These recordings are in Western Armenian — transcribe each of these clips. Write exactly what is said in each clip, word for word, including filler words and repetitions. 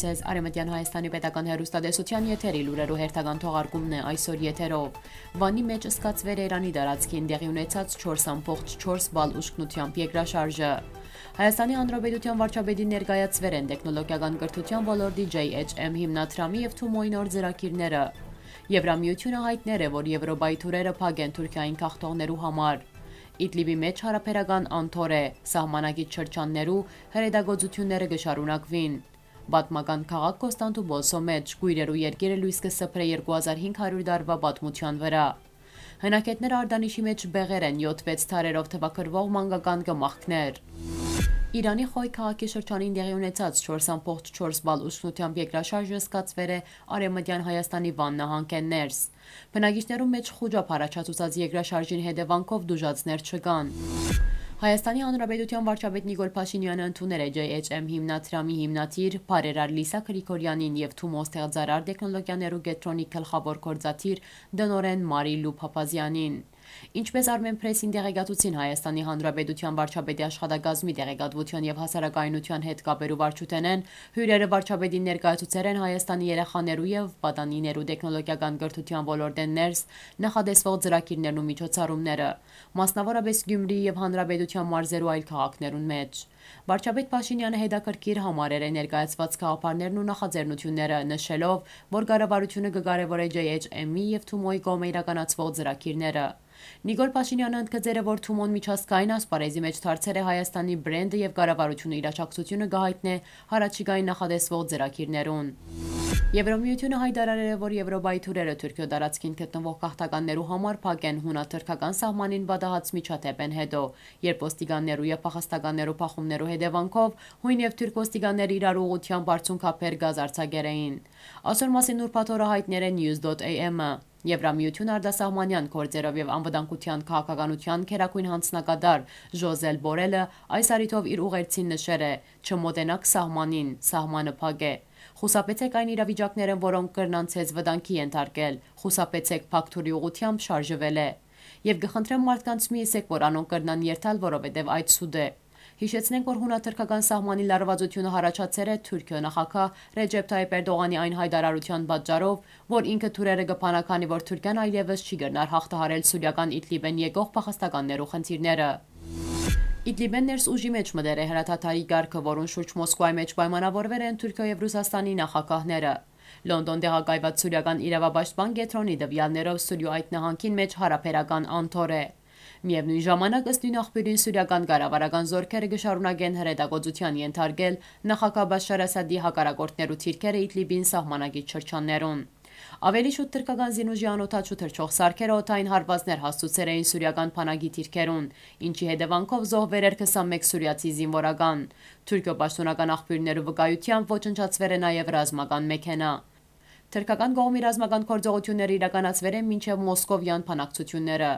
Ձեզ Արեւմտեան Հայաստանի պետական հեռուստատեսութեան եթերի լուրերու հերթական թողարկումն է այսօր եթերով։ Վանի մէջ սկացուեր է Իրանի տարածքին տեղի ունեցած չորս ամբողջ չորս բալ ուժգնությամբ երկրաշարժը։ Հայաստանի Հանրապետութեան վարչապետին ներկայացուեր են տեխնոլոգիական կրթութեան ոլորտի J H M հիմնադրամի եւ Թումոյի նոր ծրագիրները։ Եվրամիությունը հայտներ է, որ Եվրոպայի թուրերը փակ են Թուրքիային գաղթողներու համար։ Իդլիբի մէջ յարաբերական անթոր է, սահմանագիծ շրջաններու հրետակոծութիւնները կը շարունակուին։ Պատմական քաղաք Կոստանդուպոլսո մէջ կոյրերու երկիրը լոյս կը սփռէ երկու հազար հինգ հարիւր տարուայ պատմութեան վրայ։ Հնագետները Արտանիշի մէջ բեղեր են յոթ վեց թարերով թուակռուող մանկական կմախքներ։ Իրանի Խոյ քաղաքի շրջանին տեղի ունեցած չորս ամբողջ չորս բալ ուժգնությամբ երկրաշարժը սկացուեր է Արեւմտեան Հայաստանի Վան նահանգէն ներս։ Բնակիչներուն մէջ խուճապ առաջացուցած երկրաշարժին հետեւանքով տուժածներ չկան։ Հայաստանի Հանրապետութեան վարչապետ Նիկոլ Փաշինեանը ընդուներ է J H M հիմնադրամի հիմնադիր, բարերար Լիսա Գրիգորյանին եւ Թումո ստեղծարար տեխնոլոգիաներու կեդրոնի գլխաւոր գործադիր, տնօրէն Մարիլու Փափազեանին։ Ինչպէս Արմենփրեսին տեղեկացուցին Հայաստանի Հանրապետութեան վարչապետի աշխատակազմի տեղեկատվութեան եւ հասարակայնութեան հետ կապերու վարչութենէն, հիւրերը վարչապետին ներկայացուցեր են Հայաստանի երեխաներու եւ պատանիներու տեխնոլոգիական կրթութեան ոլորտէն ներս նախատեսուող ծրագիրներն ու միջոցառումները, մասնաւորապէս Գիւմրիի եւ Հանրապետութեան մարզերու այլ քաղաքներուն մէջ։ Վարչապետ Փաշինեանը հետաքրքիր համարեր է ներկայացուած գաղափարներն ու նախաձեռնութիւնները, նշելով, որ կառավարութիւնը կը կարեւորէ J H M-ի եւ Թումոյի կողմէ իրականացուող ծրագիրները։ Նիկոլ Փաշինեանը ընդգծեր է, որ Թումոն միջազգային ասպարէզի մէջ դարձեր է Հայաստանի բրենդը եւ կառավարութիւնը իր աջակցութիւնը կը յայտնէ յառաջիկային նախատեսուող ծրագիրներուն։ Եվրամիութիւնը յայտարարեր է, որ Եվրոպայի թուրերը Թուրքիոյ տարածքին գտնուող գաղթականներու համար փակ են յունա-թրքական սահմանին պատահած միջադէպէն յետոյ, երբ ոստիկաններու եւ փախստականներու բախումներու հետեւանքով յուն եւ թուրք ոստիկանները իրար ուղղութեամբ բարձունքաբեր գազ արձակեր էին։ Ասոր մասին ուրբաթ օրը յայտներ է News dot A M-ը։ Եվրամիութիւն արտասահմանեան գործերով եւ անվտանգութեան քաղաքականութեան գերագոյն յանձնակատար Ժոզել Բորելը այս առիթով իր ուղերձին նշեր է. «Չմոտենաք սահմանին, սահմանը փակ է։ Խուսափեցէք այն իրավիճակներէն, որոնք կրնան ձեզ վտանգի ենթարկել։ Խուսափեցէք փակ թուրի ուղղութեամբ շարժուելէ։ Եւ կը խնդրեմ մարդկանց, մի ըսէք, որ անոնք կրնան երթալ, որովհետեւ այդ սուտ է»։ Յիշեցնենք, որ յունա-թրքական սահմանին լարուածութիւնը յառաջացեր է Թուրքիոյ նախագահ Ռեջեփ Թայիփ Էրտողանի այն յայտարարութեան պատճառով, որ ինքը թուրերը կը բանա, քանի որ Թուրքիան այլեւս չի կրնար յաղթահարել սուրիական Իդլիբէն եկող փախստականներու խնդիրները։ Իդլիբէն ներս ուժի մէջ մտեր է հրադադարի կարգը, որուն շուրջ Մոսկվայի մէջ պայմանավորուեր են Թուրքիոյ եւ Ռուսաստանի նախագահները։ Լոնդոն տեղակայված սուրիական իրավապաշտպան կեդրոնի տվեալներով Սուրիոյ այդ նահանգին մէջ յարաբերական անթոր է։ Միեւնոյն ժամանակ, ըստ նոյն աղբիւրին, սուրիական կառավարական զօրքերը կը շարունակեն հրետակոծութեան ենթարկել նախագահ Բաշար Ասադի հակառակորդներու թիրքերը Իդլիբին սահմանագիծ շրջաններուն։ Աւելի շուտ թրքական զինուժի անօդաչու թռչող սարքերը օդային հարուածներ հասցուցեր էին սուրիական բանակի թիրքերուն, ինչի հետեւանքով զոհուեր էր քսանմէկ սուրիացի զինուորական։ Թուրքիոյ պաշտօնական աղբիւրներու վկայութեամբ ոչնչացուեր է նաեւ ռազմական մեքենայ։ Թրքական կողմի ռազմական գործողութիւնները իրականացուեր են մինչեւ մոսկովեան բանակցութիւնները։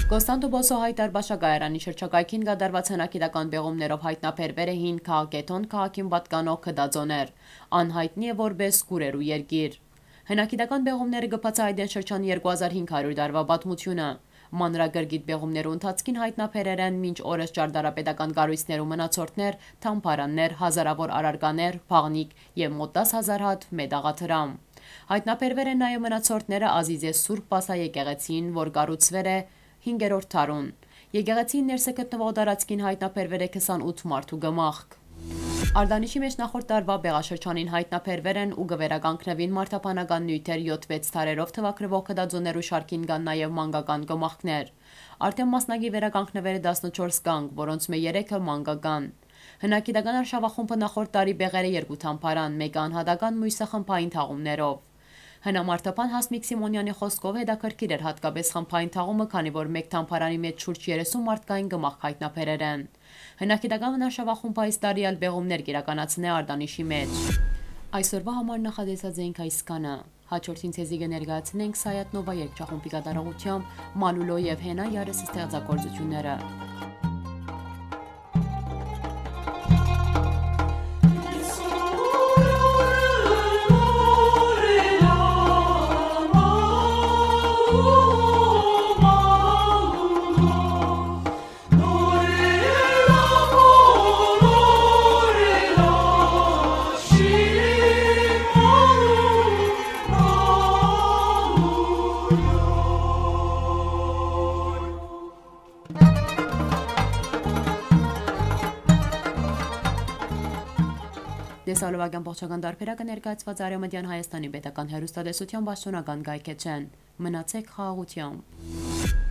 Կոստանդուպոլսո Հայ Դարբաշակայարանի շրջակայքին կատարուած հնագիտական պեղումներով յայտնաբերուեր է հին քաղաքեթոն քաղաքին պատկանող գտածոներ։ Ան յայտնի է որպէս կուռերու երկիր։ Հնագիտական պեղումները կը բացայայտեն շրջան երկու հազար հինգ հարիւր տարուայ պատմութիւնը։ Մանրակրկիտ պեղումներու ընթացքին յայտնաբերեր են մինչ օրս ճարտարապետական կառոյցներու մնացորդներ, թամբարաններ, հազարաւոր առարկաներ, բաղնիք եւ մոտ տաս հազար հատ մետաղադրամ։ Յայտնաբերուեր են նաեւ մնացորդները Ազիզե Սուրբ Պասա եկեղեցին, որ կառուցուեր է հինգերորդ դարուն։ Եկեղեցին ներսը գտնուող տարածքին յայտնաբերուեր է քսանութ մարդու կմախք։ Արտանիշի մէջ նախորդ տարուայ բեղաշրջանին յայտնաբերուեր են ու կը վերականգնուին մարդաբանական նիւթեր յոթ վեց դարերով թուակռուող գտածոներու շարքին կան նաեւ մանկական կմախքներ։ Արդէն մասնակի վերականգնուեր է տասնչորս կանգ, որոնցմէ երեքը մանկական։ Հնագիտական արշաւախումբը նախորդ տարի բեղեր է երկու թամբարան, մէկը անհատական, միւսը խմբային թաղումներով։ Հնամարտաբան Հասմիկ Սիմոնեանի խօսքով, հետաքրքիր էր յատկապէս խմբային թաղումը, քանի որ մէկ թամբարանի մէջ շուրջ երեսուն մարդկային կմախք յայտնաբերեր են։ Հնագիտական արշաւախումբը այս տարի ալ բեղումներ կ'իրականացնէ Արտանիշի մէջ։ Այսօրուայ համար նախատեսած էինք այսքանը։ Հաջորդին ձեզի կը ներկայացնենք Սայաթ Նովա երգչախումբի կատարողութեամբ Մալուլո եւ Հենա Յարըս ստեղծագործութիւնները։ Տեսալովակ ամբողջական տարբերակը ներկայացուած Արեամտեան Հայաստանի պետական հեռուստատեսության պաշտօնական կայքէջէն։ Մնացեք խաղաղութեամբ։